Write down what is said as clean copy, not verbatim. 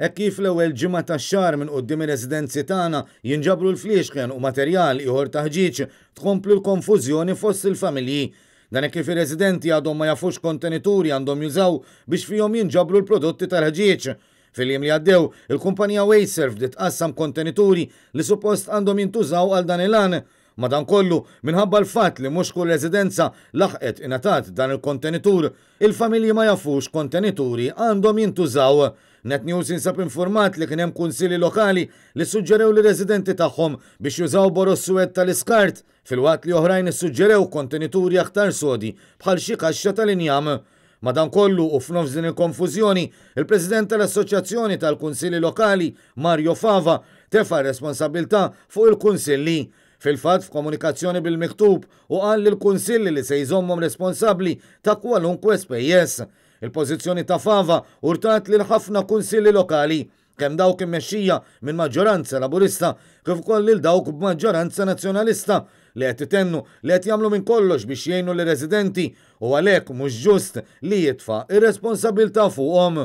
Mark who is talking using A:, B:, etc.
A: Hekk kif l-ewwel ġimgħa tax-xahar minn quddiem ir-residenzi tagħna jinġabru l-fliexken u materjal ieħor ta' ħġieġ, tkompli l-konfużjoni fost il-familji. Dan hekk kif ir-residenti għadhom ma jafux kontenituri għandhom jużaw biex fihom jinġabru l-prodotti tal-ħġieġ. Fil-jiem li għaddew, il-kumpanija WasteServ bdiet tqassam kontenituri li suppost għandhom jintużaw għal dan il-għan. Madankollu, minħabba l-fatt li mhux kull residenza laħqet ingħatat dan il-kontenitur, il-familji ma jafux x'kontenituri għandhom jintużaw. Net News jinsab infurmat li kien hemm kunsilli lokali li ssuġġerew lir-residenti tagħhom biex jużaw boroż suwed tal-iskart, filwaqt li oħrajn issuġġerew kontenituri aktar sodi bħal xi kaxxa tal-injam. Madankollu, u f'nofs din il-konfużjoni, il-President tal-Assoċjazzjoni tal-Kunsilli Lokali, Mario Fava, tefa' r-responsabbiltà fuq il-kunsilli. Fil-fatt, f'komunikazzjoni bil-miktub, hu qal lill-kunsilli li se jżommhom responsabbli ta' kwalunkwe spejjeż. Il-pożizzjoni ta' Fava urtat lil ħafna kunsilli lokali, kemm dawk immexxija minn maġġoranza Laburista kif ukoll lil dawk b'maġġoranza Nazzjonalista li qed itennu li qed jagħmlu minn kollox biex jgħinu lir-residenti u għalhekk mhux ġust li jitfa' r-responsabbiltà fuqhom.